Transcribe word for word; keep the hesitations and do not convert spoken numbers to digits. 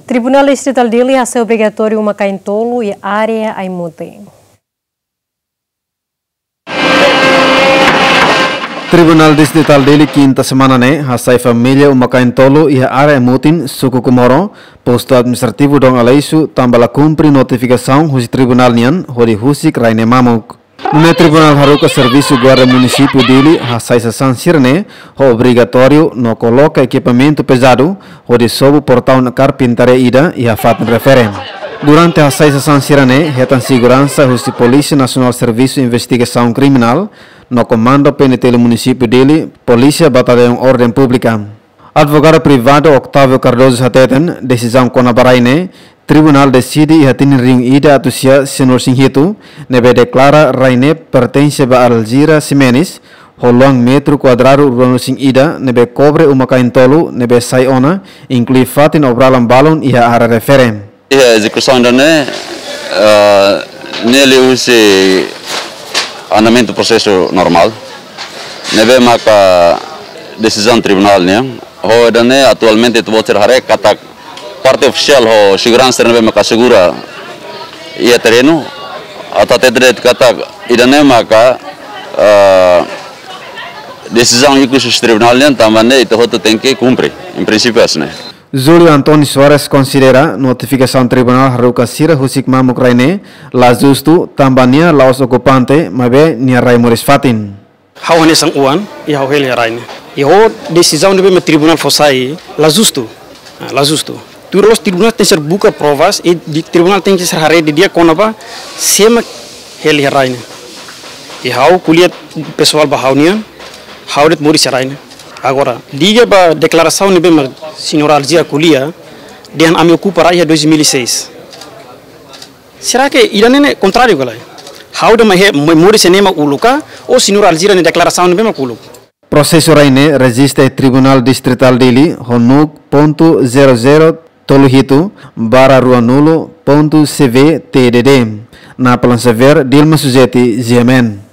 Tribunál Distritál Dili hasai obrigatóriu uma-kain tolu iha área Aimutin. Tribunál Distritál Dili kinta semana ne'e hasai família uma-kain tolu iha área Aimutin, suku Comoro, postu administrativu Dom Aleixo, tanba la kumpre notifikasaun husi tribunál nian hodi husik rai ne'e mamuk. Nune'e tribunál haruka servisu guarda munisípiu Dili hasai sasán sira-ne'e ho obrigatóriu no koloka ekipamentu pezadu hodi sobu portaun karpintaria ida iha fatin refere. Durante hasai sasán sira-ne'e, hetan seguransa husi Polísia Nasionál Servisu Investigasaun Kriminál no Komandu P N T L munisípiu Dili, Polísia Bataliaun Orden Públika. Advogadu privadu Octavio Cardoso hateten, desizaun kona-ba rai ne'e, tribunál deside iha tinin rihun ida atus sia sianulu-resin-hitu, ne'ebé deklara rai ne'e pertense ba Alzira Ximenes, ho luan metru kuadradu ruanulu-resin-ida, ne'ebé kobre uma-kain tolu, ne'ebé sai ona, inklui fatin obralan balun iha área refere. Iha ezekusaun ida-ne'e, eh, ne'e liuhusi andamentu prosesu normál. Ne'ebé maka desizaun tribunál nian. Ho ida-ne'e atualmente ita-boot sira haree katak parte ofisiál ho seguransa ne'ebé maka asegura iha terrenu. Atu hatete de'it katak ida-ne'e maka, eh, desizaun ikus husi tribunál nian tanba ne'e ita hotu tenke kumpre. Em princípio, hanesan ne'e. Júlio António Soares konsidera notifikasaun tribunál haruka sira husik mamuk rai ne'e la justu, tanba nia la'ós okupante, maibé nia rai moris fatin. Ha'u hanesan oan, i ha'u hela iha rai ne'e. I ho desizaun ne'ebé mak tribunál fó sai, la justu. Ah, la justu. Tuir loloos tribunál tenke ser buka provas, i di tribunál tenke ser haree didi'ak kona-ba sé mak hela iha rai ne'e. I ha'u ko'alia pesoál ba ha'u-nian, ha'u de'it moris iha rai ne'e. Agora, liga ba deklarasaun ne'ebé mak señora Alzira ko'alia, dehan ami okupa rai iha dois mil e seis. Será que ida-ne'e ne'e kontráriu ka lae? Ha'u dehan mak ha'u moris iha ne'e mak uluk ka, ou señora Alzira nia deklarasaun ne'ebé mak uluk? Prosesu rai ne'e rejista iha Tribunál Distritál Dili ho NUC pontu zero zero tolu hitu barra ruanulu pontu C V T D D. Napoleão Xavier, Dilma Suzeti, G M N.